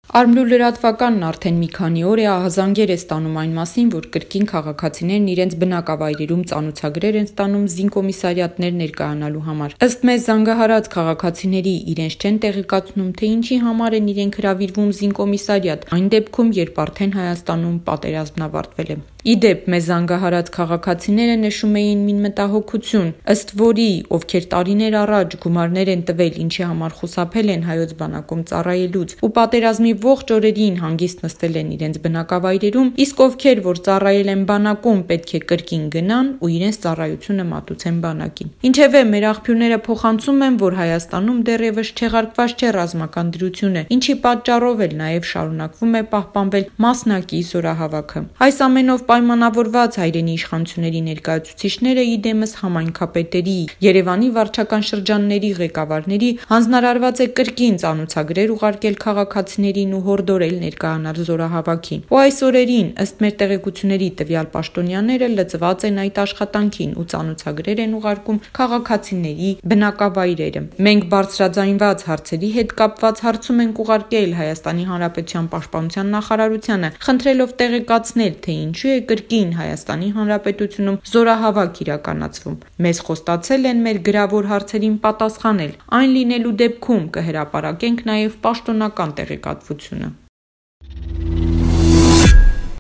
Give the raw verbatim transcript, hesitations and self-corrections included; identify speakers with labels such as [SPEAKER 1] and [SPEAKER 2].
[SPEAKER 1] Արմլու լրատվականն արդեն մի քանի օր է ահազանգեր է ստանում այն մասին, որ կրկին քաղաքացիներն իրենց բնակավայրերում ծանոթագրեր են ստանում զինկոմիսարիատներ ներկայանալու համար։ Ըստ մեզ զանգահարած քաղաքացիների իրենց չեն տեղեկացնում, թե ինչի համար են իրենք հրավիրվում զինկոմիսարիատ, այն դեպքում, երբ արդեն Հայաստանում պատերազմն ավարտվել է։ Իդեպ մեզ զանգահարած քաղաքացիները նշում էին մի մտահոգություն, ըստ որի ովքեր տարիներ առաջ գումարներ են տվել, ինչի համար խուսափել են հայոց բանակում ծառայելուց ու պատերազմի ողջ օրերին հանգիստ նստել են իրենց բնակավայրերում, իսկ ովքեր որ ծառայել են բանակում, պետք է կրկին գնան ու իրենց ծառայությունը մատուցեն բանակին։ Ինչևէ, մեր աղբյուրները փոխանցում են, որ Հայաստանում դեռևս չեղարկված չէ ռազմական դրությունը, ինչի պատճառով էլ նաև շարունակվում է պահպանվել մասնակի զորահավաքը։ Այս ամենով պայմանավորված հայրենի իշխանությունների ներկայացուցիչները իդեմս համայնքապետերի, Երևանի վարչական շրջանների ղեկավարների հանձնարարված է կրկին ծանոթագրեր ուղարկել քաղաքացիներին ու հորդորել ներկայանալ զորահավաքի։ Ու այս օրերին, ըստ մեր տեղեկությունների, տվյալ պաշտոնյաները լծված են այդ աշխատանքին ու ծանոթագրեր են ուղարկում քաղաքացիների բնակավայրերը։ Մենք բարձրաձայնված հարցերի հետ կապված հարցում ենք ուղարկել Հայաստանի Հանրապետության պաշտպանության նախարարությանը, խնդրելով տեղեկացնել, թե ինչու է կրկին Հայաստանի Հանրապետությունում զորահավաք իրականացվում։ Մեզ խոստացել են մեր գրավոր հարցերին պատասխանել, այն լինելու դեպքում կհրապարակենք նաև պաշտոնական տեղեկատվությունը։